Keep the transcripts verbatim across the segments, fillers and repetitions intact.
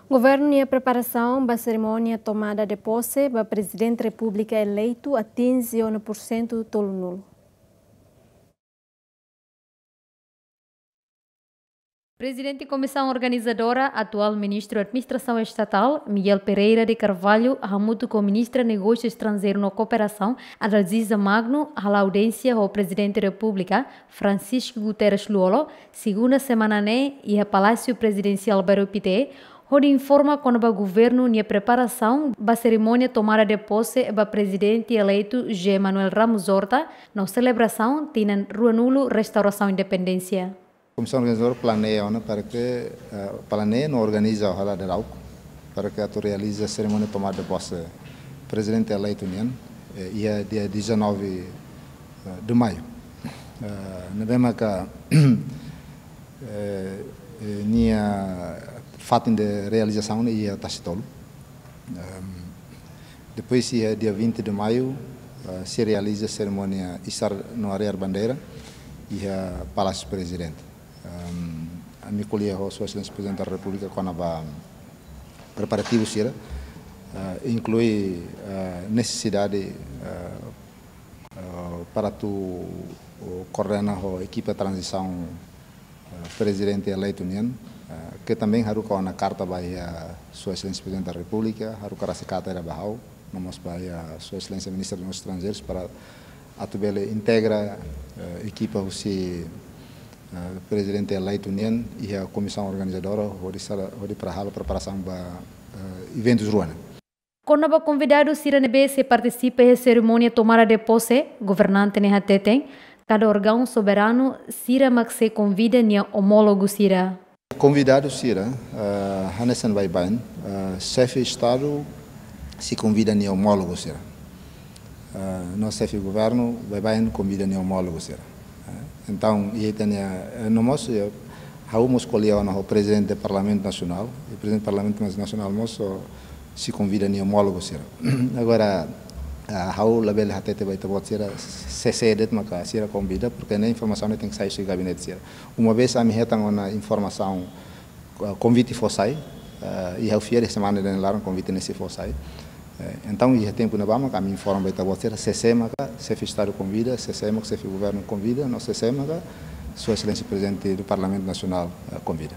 Governu nia preparasaun ba serimónia tomada de pose ba Prezidente Repúblika eleitu atinje ona pursentu tolunulu. Prezidente Komisaun Organizadora, atuál Ministru Administrasaun Estatál, Miguel Pereira de Carvalho, hamutuk ho Ministra Negósiu Estranjeiru no Kooperasaun, Adalgisa Magno, hala'o audiénsia ho Prezidente Repúblika, Francisco Guterres Lú-Olo, segunda semana ne'e, iha Palásiu Prezidensiál Bairru Pité, hodi informa kona-ba governu nia preparasaun ba serimónia tomada de pose ba Prezidente eleitu José Manuel Ramos Horta, no selebrasaun tinan ruanulu restaurasaun independénsia. Komisaun organizadora planeia ona para ke, eh, planeia no organiza ohala de rauk para ke atu realiza serimónia tomada de pose Prezidente eleitu nian, eh, iha dia dezanove, eh, de maio. Eh, ne'ebé maka, eh, eh, nia fatin de realizasaun ne'e iha Tasitolu. Ehm, depois iha dia vinte de maio, eh, sei realiza serimónia isar no arriar bandeira iha Palásiu Prezidente. Ehm, ami ko'alia ho Sua Exelénsia Prezidente da Repúblika kona-ba preparativu sira, eh, inklui, eh, nesesidade, eh, eh, para atu, eh, koordena ho ekipa tranzisaun, eh, Prezidente eleitu nian, eh, ke também haruka ona karta ba iha Sua Exelénsia Prezidente da Repúblika, haruka rasik karta ida ba ha'u, no mós ba iha Sua Exelénsia Ministra dos Negósius Estranjeirus para atu bele integra, eh, ekipa husi, eh, Prezidente eleitu nian iha komisaun organizadora hodi sala, hodi para halo preparasaun ba, eh, eventus rua ne'e. Kona-ba konvidadu sira ne'ebé sei partisipa iha serimónia tomada de pose, governante ne'e hateten, kada órgaun soberanu sira mak sei konvida nia omólogu sira. Konvidadu sira, eh, hanesan baibain, eh, xefe Estadu sei konvida nia omólogu sira. Eh, no xefe governu baibain konvida nia omólogu sira. Eh, entaun, iha ita-nia, eh, no mós, eh, ha'u mós ko'alia ona ho Prezidente Parlamentu Nasionál, i Prezidente Parlamentu Nasionál mós, oh, sei konvida nia omólogu sira. Agora, ah, ha'u labele hatete ba ita-boot sira, sé-sé de'it maka sira konvida, porke ne'e informasaun ne'e tenke sai husi gabinete sira. Uma vez ami hetan ona informasaun, ah, konvite fó sai, ah, i ha'u fiar semana ida-ne'e laran konvite ne'e sei fó sai. Eh, entaun, iha tempu ne'ebá maka ami informa ba ita-boot sira, sé-sé maka xefe Estadu konvida, sé-sé maka xefe governu konvida, no sé-sé maka Sua Exelénsia Prezidente do Parlamentu Nasionál, eh, konvida.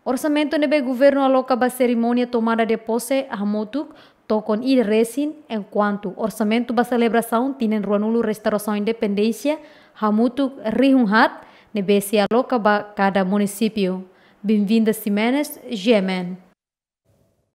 Orsamentu ne'ebé governu aloka ba serimónia tomada de pose hamutuk tokon ida resin, enkuantu orsamentu ba selebrasaun tinan ruanulu restaurasaun independénsia hamutuk rihun haat ne'ebé sei aloka ba kada munisípiu. Benvinda Ximenes, G M N.